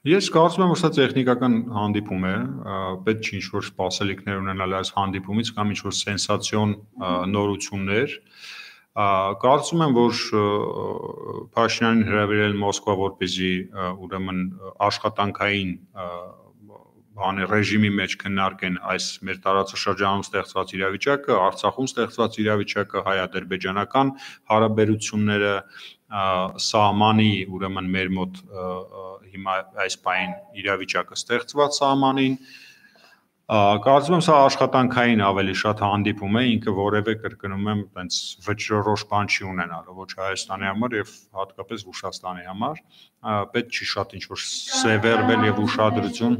Ես կարծում եմ, որ սա տեխնիկական հանդիպում է, պետք չի ինչ-որ սպասելիքներ ունենալ այս հանդիպումից կամ ինչ-որ սենսացիոն նորություններ։ Կարծում եմ, որ Փաշինյանին հրավիրել Մոսկվա, որպեսզի ուրեմն աշխատանքային ռեժիմի մեջ քննարկեն այս մեր տարածաշրջանում ստեղծված իրավիճակը, Արցախում ստեղծված իրավիճակը, հայ-ադրբեջանական հարաբերությունները, սահմանի, ուրեմն մեր մոտ հիմա այս պահին իրավիճակը ստեղծված սահմանին, կարծում եմ սա աշխատանքային ավելի շատ հանդիպում է, ինքը որևէ կրկնում եմ, այնց վճռորոշ բան չի ունենալու ոչ Հայաստանի համար եւ հատկապես Ռուսաստանի համար, պետք չի շատ ինչ-որ սևեռվել եւ ուշադրություն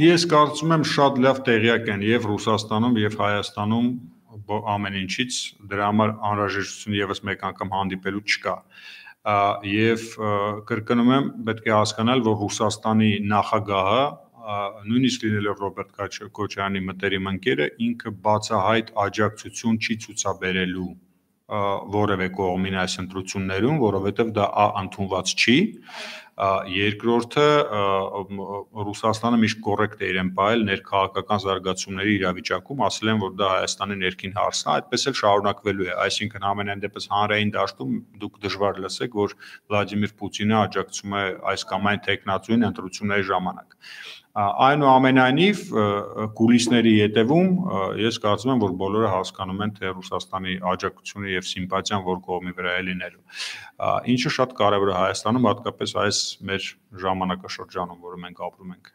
Ես կարծում եմ շատ լավ տեղյակ են եւ Ռուսաստանում եւ Հայաստանում ամեն ինչից, դրա համար անհրաժեշտություն եւս մեկ անգամ հանդիպելու չկա։ Եվ կրկնում եմ, պետք է հասկանալ, որ Ռուսաստանի նախագահը, նույնիսկ լինելով Ռոբերտ Քոչարյանի մտերիմ ընկերը, ինքը բացահայտ աջակցություն չի ցուցաբերելու որևէ կողմին այս ընտրություններում, որովհետև դա ընդունված չի։ Երկրորդը Ռուսաստանը միշտ կոռեկտ է իրեն պահել ներքաղաքական զարգացումների իրավիճակում, ասել են, որ դա Հայաստանի ներքին հարց է, այդպես էլ շարունակվելու է, այսինքն ամենայն դեպս հանրային դաշտում դուք դժվար լսեք, որ Վլադիմիր Պուտինը աջակցում է այս կամ այն թեկնածուին ընտրությունների ժամանակ։ Այնուամենայնիվ կուլիսների ետևում ես կարծում եմ, որ բոլորը հասկանում են, թե Ռուսաստանի աջակցությունը եւ սիմպաթիան որ կողմի վրա է լինելու։ Ինչը շատ կարեւոր է Հայաստանում, հատկապես այս մեր ժամանակաշրջանում, որը մենք ապրում ենք։